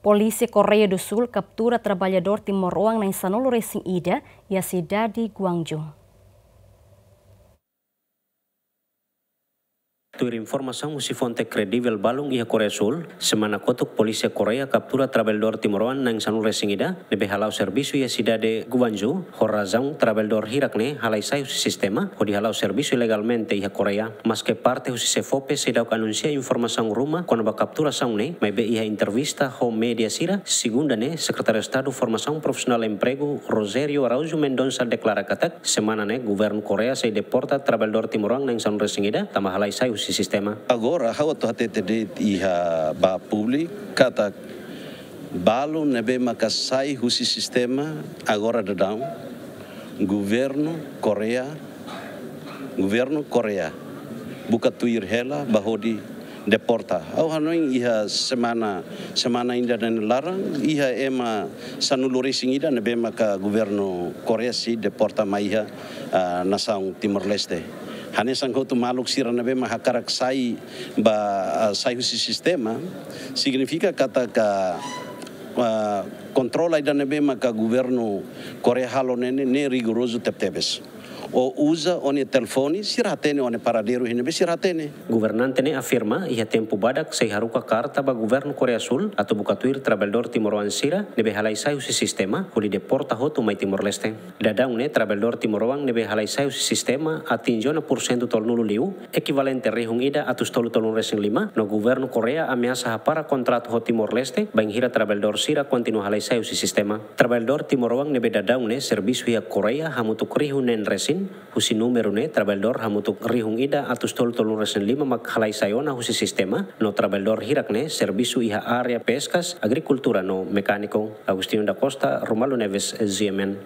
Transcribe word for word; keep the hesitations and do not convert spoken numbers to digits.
Polísia Koreia do Sul kaptura traballadór timoroan na'in sanulu-resin-ida iha sidade Gwangju. Tuir informasaun husi fonte kredivel balun iha Koreia Sul, semana kotuk Polísia Koreia kaptura traballadór timoroan na'in sanulu-resin-ida ne'ebé hala'o servisu iha sidade Gwangju, ho razaun traballadór hirak ne'e halai sai husi sistema hodi hala'o servisu ilegalmente iha Koreia. Maske parte husi SEFOPE seidauk anunsia informasaun ruma kona-ba kapturasaun ne'e, maibé iha entrevista ho média sira, segunda ne'e, Sekretáriu Estadu Formasaun Profisionál Empregu, Rogério Araújo Mendonça, deklara katak semana ne'e governu Koreia sei deporta traballadór timoroan na'in sanulu-resin-ida tanba halai sai husi sistema. Agora, ha'u atu hatete de'it iha ba públiku katak balu ne'ebé maka sai husi sistema agora daudaun, governu Koreia, governu Koreia buka tuir hela ba hodi deporta. Ha'u hanoin iha semana, semana ida-ne'e nia laran, iha ema sanulu-resin-ida ne'ebé maka governu Koreia sei deporta mai iha, ah, nasaun Timor-Leste. Hanesan hotu maluk sira ne'ebé mak hakarak sai ba, ah, sai husi sistema, signifika katak, ah, kontrola ida ne'ebé maka governu Koreia halo ne'e, ne'e rigorozu tebetebes. Ó uza ó-nia telefone, sira hatene ó-nia paradeiru iha ne'ebé, sira hatene. Governante ne'e afirma, iha tempu badak sei haruka karta ba governu Koreia Sul atu buka tuir traballadór timoroan sira ne'ebé halai sai husi sistema, hodi deporta hotu mai Timor-Leste. Daudaun ne'e traballadór timoroan ne'ebé halai sai husi sistema atinje ona pursentu tolunulu liu, ekivalente rihun ida atus tolu tolunulu-resin-lima, no governu Koreia ameasa hapara kontratu ho Timor-Leste, bainhira traballadór sira kontinua halai sai husi sistema. Traballadór timoroan ne'ebé daudaun ne'e servisu iha Koreia hamutuk rihun neen resin, husi númeru ne'e traballadór hamutuk rihun ida atus tolu tolunulu-resin-lima mak halai sai ona husi sistema, no traballadór hirak ne'e servisu iha área peskas, agrikultura no mekániku. Agostinho da Costa, Romualdo Neves, G M N.